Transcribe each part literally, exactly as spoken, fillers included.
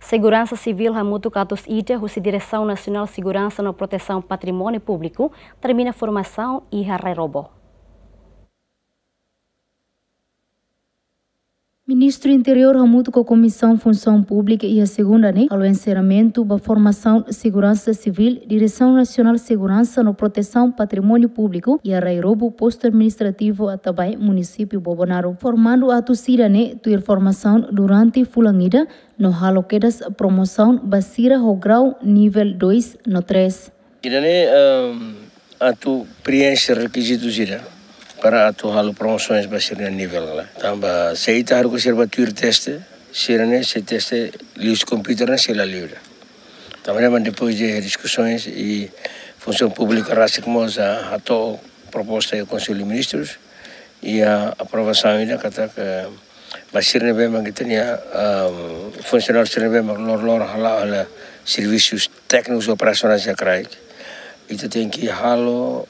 Seguransa Sivíl hamutuk atus ida husi Diresaun Nasionál Seguransa no Protesaun Patrimóniu Públiku termina formasaun iha Rai Robo. Ministru Interiór hamutuk ho Komisaun Funsaun Públika iha segunda ne'e halo enserramentu ba formasaun seguransa sivíl Diresaun Nasionál Seguransa no Protesaun Patrimóniu Públiku iha Rai Robo, Postu Administrativu Atabae, Munisípiu Bobonaro. Formandu atus ida ne'e tuir formasaun durante fulan ida no halo kedas promosaun ba sira ho grau nivel dois no três. Ida-ne'e, ehm, atu preenxe rekizitu sira para atu halo promosoens ba sira-nia nivel ne'e. Tanba se ita haruka sira ba tuir teste, sira-ne'e sei teste liuhusi komputadór ne'e sei la liu ida. Tanba ne'e depois de diskusoens i Funsaun Públika rasik mós hato'o proposta iha Konsellu Ministrus i aprovasaun ida katak ba sira ne'ebé mak ita-nia, ehm, funsionáriu sira ne'ebé mak loroloron hala'o hela servisus téknikus operasionais iha kraik. Ita tenke halo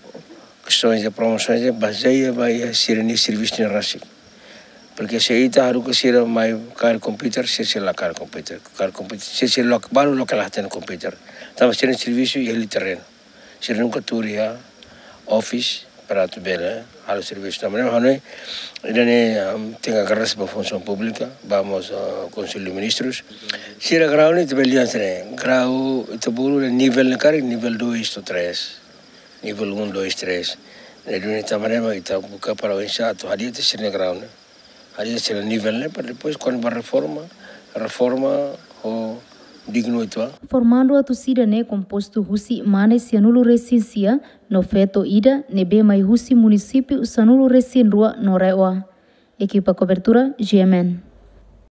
kestaun de promosoens bazeia ba iha sira-nia servisu ne'e rasik. Porke se ita haruka sira mai kaer komputadór, sira sei la kaer komputadór. Kaer komputadór, sira sei loke, balu loke la hatene komputadór. Tanba sira-nia servisu iha liu terrenu. Sira nunka tuur iha office para atu bele halo servisu. Tanba ne'e ha'u hanoin, ida-ne'e, ehm, tenke agradese ba Funsaun Públika, ba mós, ah, Konsellu Ministrus. Sira grau ne'e ita bele dehan sira, grau ita bolu nivel ne'e karik nivel dois to'o três. Nivel um, dois, três. Ne'e duni tanba ne'e mak ita buka para oinsá atu hadi'a sira-nia grau ne'e. Hadi'a sira-nia nivel ne'e para depois kuandu ba reforma, reforma ho dignu uitoan. Formandu atus ida ne'e kompostu husi mane sianulu-resin-sia no feto ida ne'ebé mai husi munisípiu sanulu-resin-rua no RAEOA. Ekipa kobertura, G M N.